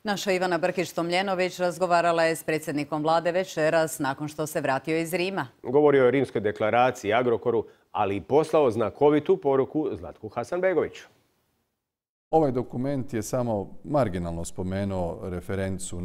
Naša Ivana Brkić-Tomljenović razgovarala je s predsjednikom vlade večeras nakon što se vratio iz Rima. Govorio je o rimskoj deklaraciji, Agrokoru, ali i poslao znakovitu poruku Zlatku Hasanbegoviću. Ovaj dokument je samo marginalno spomenuo referencu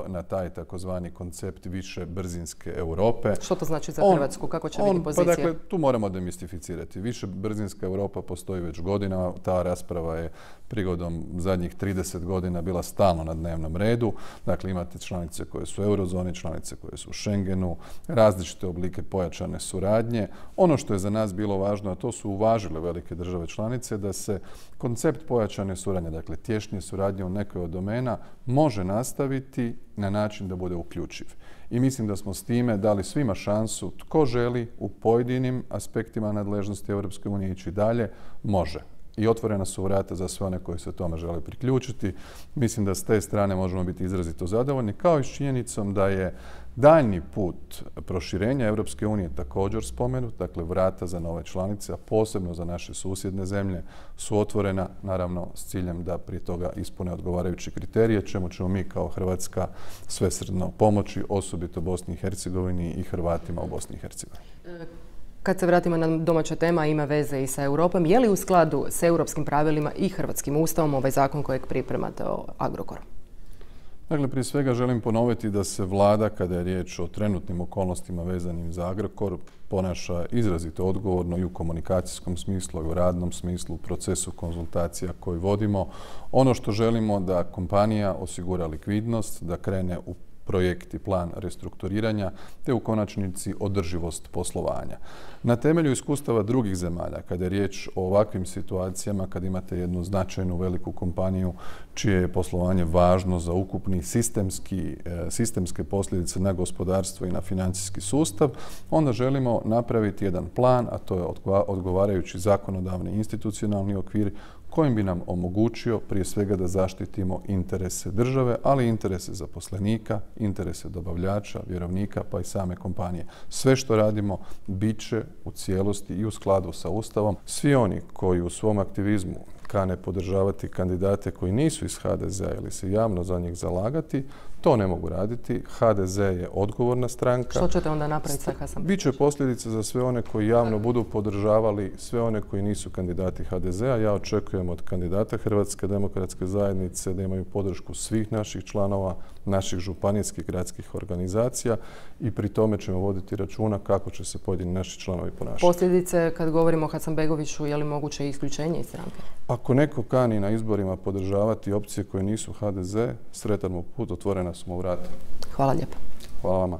na taj takozvani koncept više brzinske Europe. Što to znači za Hrvatsku? Kako će biti pozicija? Pa dakle, tu moramo demistificirati. Više brzinska Europa postoji već godinama. Ta rasprava je prigodom zadnjih 30 godina bila stalno na dnevnom redu. Dakle, imate članice koje su u eurozoni, članice koje su u Schengenu, različite oblike pojačane suradnje. Ono što je za nas bilo važno, a to su uvažile velike države članice, da se koncept pojačane suradnje, dakle tješnje suradnje u nekoj od domena, može nastaviti na način da bude uključiv. I mislim da smo s time dali svima šansu, tko želi u pojedinim aspektima nadležnosti Europske unije ići dalje, može. I otvorena su vrata za sve one koji se tome žele priključiti. Mislim da s te strane možemo biti izrazito zadovoljni, kao i s činjenicom da je daljnji put proširenja Europske unije također spomenut, dakle vrata za nove članice, a posebno za naše susjedne zemlje, su otvorena, naravno s ciljem da prije toga ispune odgovarajuće kriterije, čemu ćemo mi kao Hrvatska svesrdno pomoći, osobito Bosni i Hercegovini i Hrvatima u Bosni i Hercegovini. Kad se vratimo na domaća tema, ima veze i sa Europom. Je li u skladu s europskim pravilima i hrvatskim ustavom ovaj zakon kojeg pripremate o Agrokoru? Dakle, prije svega želim ponoviti da se vlada, kada je riječ o trenutnim okolnostima vezanim za Agrokor, ponaša izrazito odgovorno i u komunikacijskom smislu i u radnom smislu, u procesu konzultacija koji vodimo. Ono što želimo da kompanija osigura likvidnost, da krene u projekt i plan restrukturiranja, te u konačnici održivost poslovanja. Na temelju iskustava drugih zemalja, kada je riječ o ovakvim situacijama, kad imate jednu značajnu veliku kompaniju čije je poslovanje važno za ukupni sistemske posljedice na gospodarstvo i na financijski sustav, onda želimo napraviti jedan plan, a to je odgovarajući zakonodavni institucionalni okvir kojim bi nam omogućio prije svega da zaštitimo interese države, ali i interese zaposlenika, interese dobavljača, vjerovnika, pa i same kompanije. Sve što radimo bit će u cijelosti i u skladu sa Ustavom. Svi oni koji u svom aktivizmu kane podržavati kandidate koji nisu iz HDZ-a ili se javno za njih zalagati, to ne mogu raditi. HDZ je odgovorna stranka. Što ćete onda napraviti sa Hasanbegovićem? Biće posljedice za sve one koji javno budu podržavali sve one koji nisu kandidati HDZ-a. Ja očekujem od kandidata Hrvatske demokratske zajednice da imaju podršku svih naših članova, naših županijskih gradskih organizacija i pri tome ćemo voditi računa kako će se pojedini naši članovi ponašati. Posljedice, kad govorimo o Hasanbegoviću, je li moguće isključenje iz stranke? Ako neko kani na izborima podržavati opcije koje nisu HDZ, sretan mu put, otvorena su mu vrata. Hvala lijepo. Hvala vama.